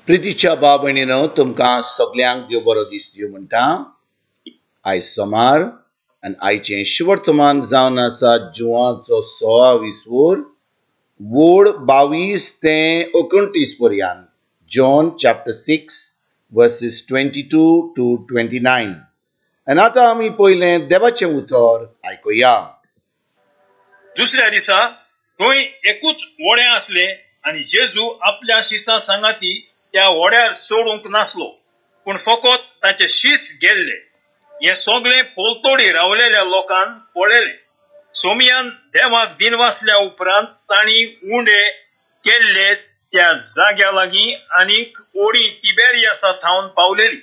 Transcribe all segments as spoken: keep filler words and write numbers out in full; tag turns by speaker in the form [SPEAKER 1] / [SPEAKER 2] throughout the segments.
[SPEAKER 1] प्रितीच्या भाव भयणीनो, तुमकां सगल्यांक देव बरो दीस दिवं म्हणटा. आयज सोमार आनी आयचें शुवर्तमान जावन आसा जुवाचो सोळा वीस वोड बावीस ते एकोणतीस पर्यंत. John chapter six verses twenty two to twenty nine. आनी आतां आमी पयलें देवाचें उतर आयकुया.
[SPEAKER 2] दुसऱ्या दिसा थंय एकूच व्हडें आसलें आनी जेजू आपल्या शिसां सांगाती त्या व्हड्यार चडूंक नासलो, पूण फकत ताचे शीस गेल्ले. हें सगळें पलतडी रावलेल्या लोकान पळयलें. सोमयान देवाक दिनवासल्या उपरांत तांणी उंडे केल्ले त्या जाग्या लागीं आनीक ओडी तिबेरियासा थावन पावलेली.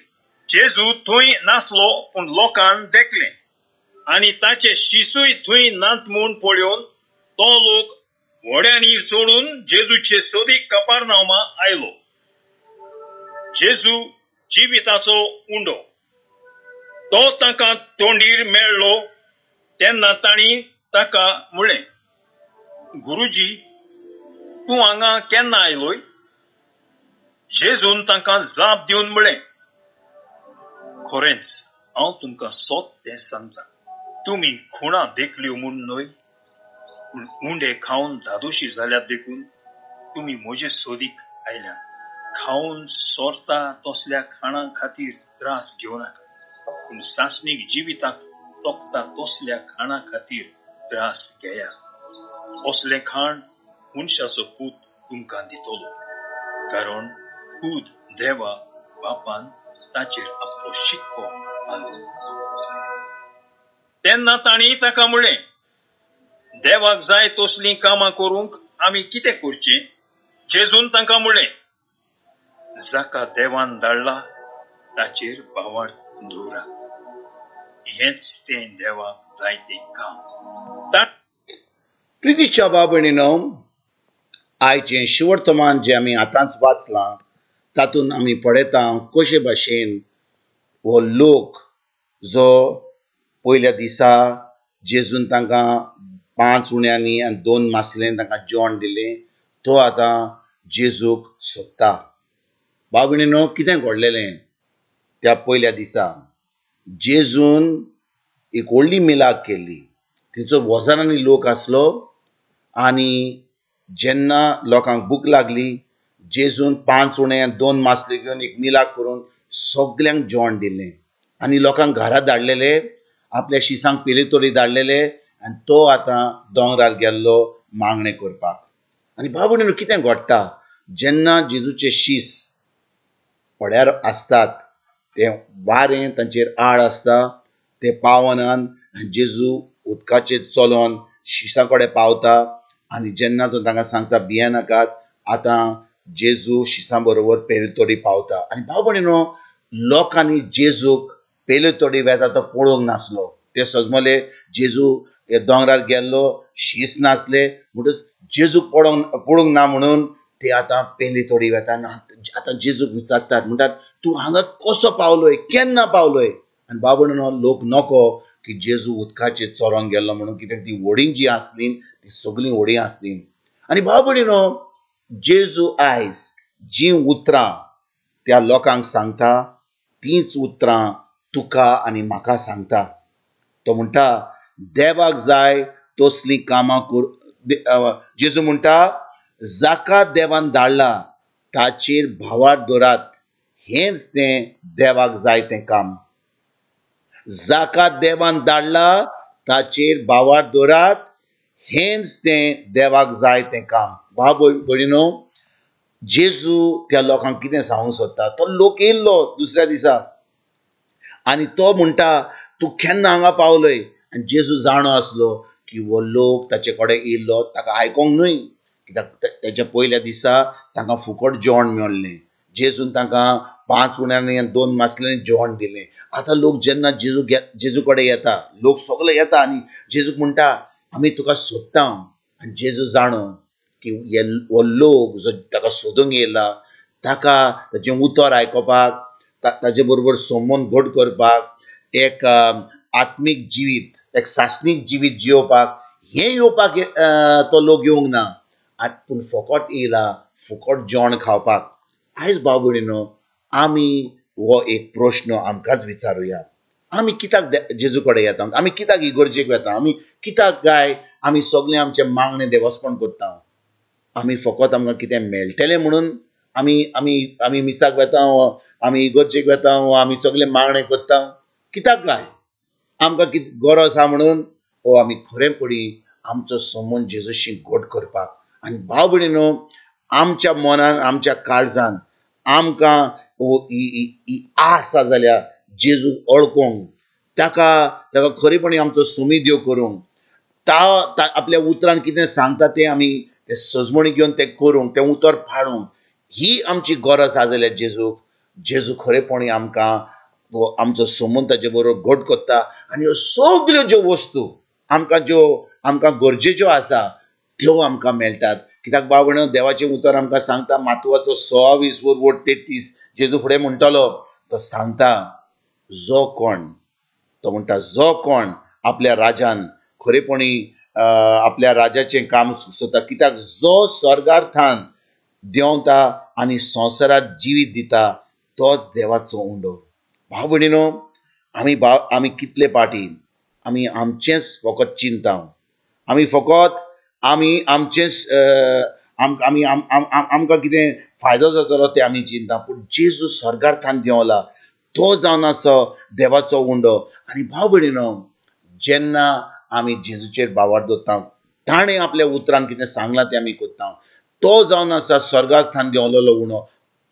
[SPEAKER 2] जेजू थंय नासलो, पूण लोकान देखलें आनी ताचे शिसूय थंय नात म्हूण पळोवन तो लोक व्हड्यांनी चडून जेजूचे सोदीक कपारनामा आयलो. जेजू जिविताचो उंडो. तो ताका तोंडीर मेळ्ळो तेन्ना तांणी ताका म्हळें, गुरुजी, तूं हांगा केन्ना आयलोय? जेजून तांकां जाप दिवन म्हळें, खरेंच हांव तुमकां सोद तें सांगता, तुमी खुणा देखल्यो म्हूण न्हय, पूण उंडे खावन धादोशी जाल्यात देखून तुमी म्हजे सोदीक आयल्यात. खावन सोरता तसल्या खाणां खातीर त्रास घेवं नाका, पूण सासणीक जिविताक तोखता तसल्या खाणां खातीर त्रास घेया. असलें खाण मनशाचो पूत तुमकां दितलो, कारण पूत देवा बापान ताचेर आपलो शिक्को मारलो. तेन्ना तांणी ताका म्हळें, देवाक जाय तसलीं कामां करूंक आमी कितें करचें? जेजून तांकां म्हळें, जाका देवान धाडला ताचेर भावार्थ दवरात, हेंच तें देवाक जाय तें काम.
[SPEAKER 1] प्रितीच्या भाव भयणीनो, आयचें शुवर्तमान जें आमी आतांच वाचलां तातूंत आमी पळयता कशे भाशेन हो लोक जो पयल्या दिसा जेजून तांकां पांच उण्यांनी आनी दोन मासलेन तांकां जेवण दिलें, तो आतां जेजूक सोदता. भाव भयणीनो, कितें घडलेलें त्या पयल्या दिसा? जेजून एक व्हडली मिलाग केल्ली. थंयचो हजारांनी लोक आसलो आनी जेन्ना लोकांक भूक लागली, जेजून पांच उणे दोन मासले घेवन एक मिलाग करून सगल्यांक जेवण दिलें आनी लोकांक घरा धाडलेले, आपल्या शिसांक पेलेतोडी धाडलेले आनी तो आतां दोंगरार गेल्लो मागणें करपाक. आनी भाव भयणीनो, कितें घडटा जेन्ना जेजूचे शीस व्हड्यार आसतात, तें वारें तांचेर आड आसता, ते पावनान आनी जेजू उदकाचेर चलोन शिसां कडेन पावता आनी जेन्ना तो तांकां सांगता भियेनाकात, आतां जेजू शिसां बरोबर पेलेतोडी पावता. आनी भाव भयणीनो, लोकांनी जेजूक पेलेतोडी वेता तो पळोवंक नासलो. ते सजमले जेजू दोंगरार गेल्लो, शीस नासले, म्हणटच जेजूक पळोवंक पळोवंक ना म्हणून ते आतां पेलेतोडी वेता. आतां जेजूक विचारतात, म्हणटात तूं हांगा कसो पावलोय, केन्ना पावलोय? आनी भाव भयणीनो, लोक नको की जेजू उदकाचेर चोरोन गेल्लो म्हणून, कित्याक ती व्हडीं जी आसलीं ती सगळीं व्हडीं आसलीं. आनी भाव भयणीनो, जेजू आयज जीं उतरां त्या लोकांक सांगता तींच उतरां तुका आनी म्हाका सांगता. तो म्हणटा देवाक जाय तसलीं कामां कर. जेजू म्हणटा जाका देवान धाडला ताचेर भावार्थ दवरात, हेंच तें देवाक जाय तें काम. जाका देवान धाडला ताचेर भावार्थ दवरात, हेंच तें देवाक जाय तें काम. भाव भयणीनो, जेजू त्या लोकांक कितें सांगूंक सोदता? तो लोक येयल्लो दुसऱ्या दिसा आनी तो म्हणटा तूं केन्ना हांगा पावलोय? आनी जेजू जाणो आसलो की हो लोक ताचे कडेन येयल्लो ताका आयकोंक न्हय, कित्याक तेच्या पयल्या दिसा तांकां फुकट जेवण मेळ्ळें. जेजून तांकां पांच उण्यांनी आनी दोन मासल्यांनी जेवण दिलें. आतां लोक जेन्ना जेजू जेजू कडेन येता, लोक सगळे येता आनी जेजूक म्हणटा आमी तुका सोदता. आनी जेजू जाणो की हो लोक जो ताका सोदूंक येयला ताका ताचें उतर आयकोपाक, ताजे बरोबर संबंद घट करपाक, एक आत्मीक जिवीत, एक सासणीक जिवीत जियोवपाक हें येवपाक तो लोक येवंक ना, पूण फकत येयला फुकट जेवण खावपाक. आयज भाव भयणीनो आमी हो एक प्रश्न आमकांच विचारुया. आमी कित्याक जेजू कडेन येता? आमी कित्याक इगर्जेक वता? आमी कित्याक काय आमी सगळें आमचें मागणें देवस्पण करता? आमी फकत आमकां कितें मेळटलें म्हणून आमी आमी आमी मिसाक वता, आमी इगर्जेक वता, आमी सगळें मागणें करता? कित्याक काय आमकां कितें गरज आसा म्हणून? ओ आमी खरेंपणी आमचो संबंद जेजूशी घट करपाक. आनी भाव भयणीनो आमच्या मनान आमच्या काळजान आमकां ही आस आसा जाल्यार जेजू वळखूंक, ताका ताका खरेपणी आमचो सुमी देव करूंक, ता आपल्या उतरान कितें सांगता तें आमी तें सजमणी घेवन तें करूंक, तें उतर पाळूंक, ही आमची गरज आसा जाल्यार जेजूक जेजू खरेपणी आमकां आमचो संबंद ताचे बरोबर घट करता. आनी ह्यो सगल्यो ज्यो वस्तू आमकां ज्यो आमकां गरजेच्यो आसा त्यो आमकां मेळटात. कित्याक भाव भयणीनो देवाचें उतर आमकां सांगता मातुवाचो सव्वीस वर वट तेत्तीस जेजू फुडें म्हणटलो तो सांगता जो कोण, तो म्हणटा जो कोण आपल्या राजान खरेपणी आपल्या राजाचें काम सोदता, कित्याक जो स्वर्गार्थान देंवता आनी संवसारात जिवीत दिता तो देवाचो उंडो. भाव भयणीनो आमी भाव आमी कितले पाटी आमी आमचेंच फकत चिंता, आमी फकत आमी आमचेंच आमी आमकां कितें फायदो जातलो तें आमी चिंता. पूण जेजू स्वर्गार्थान देंवला तो जावन आसा देवाचो उंडो. आनी भाव भयणीनो जेन्ना आमी जेजूचेर भावार्थ दवरता, ताणें आपल्या उतरान कितें सांगलां तें आमी करता, तो जावन आसा स्वर्गार्थान देंवलेलो उणो,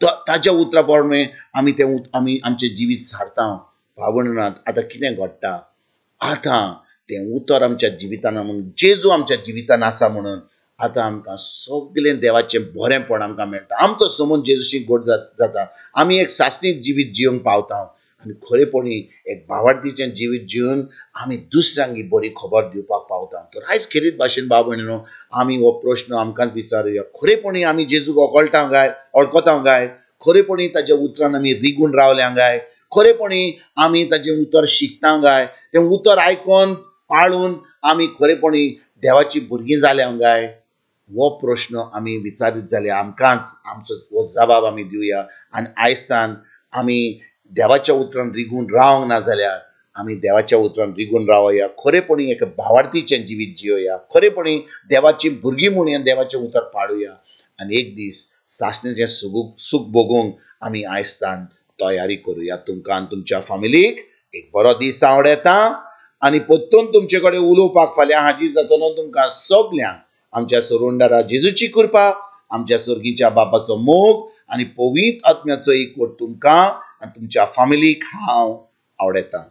[SPEAKER 1] ताच्या उतरा प्रमाणे आमी तें आमी आमचें जिवीत सारता. भाव भयणीनो आतां कितें घडटा, आतां तें उतर आमच्या जिवितान म्हणून जेजू आमच्या जिवितान आसा म्हणून आतां आमकां सगळें देवाचें बरेंपण आमकां मेळटा. आमचो संबंद जेजूशी घट जाता, आमी एक सासणीक जिवीत जिवंक पावता आनी खरेपणी एक भावार्थीचें जिवीत जिवन आमी दुसऱ्यांक बरी खबर दिवपाक पावता. तर आयज खेरीत भाशेन भाव भयणीनो आमी हो प्रश्न आमकांच विचारुया, खरेपणी आमी जेजूक वळखता काय वळखता काय? खरेपणी ताच्या उतरान आमी रिगून रावल्या काय? खरेपणी आमी ताचें उतर शिकता काय? तें उतर आयकोन पाळून आमी खरेपणी देवाची भुरगीं जाल्या काय? हो प्रश्न आमी विचारीत जाल्यार आमकांच आमचो हो जबाब आमी दिवया. आनी आयजतान आमी देवाच्या उतरान रिगून रावंक ना जाल्यार आमी देवाच्या उतरान रिगून रावया, खरेपणी एक भावार्थीचें जिवीत जियोया, खरेपणी देवाची भुरगीं म्हणून देवाचें उतर पाळुया आनी एक दीस सासणेचें सुख सूख भोगूंक आमी आयजतान तयारी करुया. तुमकां आनी तुमच्या फामिलीक एक बरो दीस आवडटा आनी परतून तुमचे कडेन उलोवपाक फाल्यां हाजीर जातलो. तुमकां सगल्यांक आमच्या सरोंडारा जेजूची कृपा, आमच्या सर्गीच्या बापाचो मोग आनी पवित्र आत्म्याचो एकवट तुमकां आनी तुमच्या फामिलीक हांव आवडटा.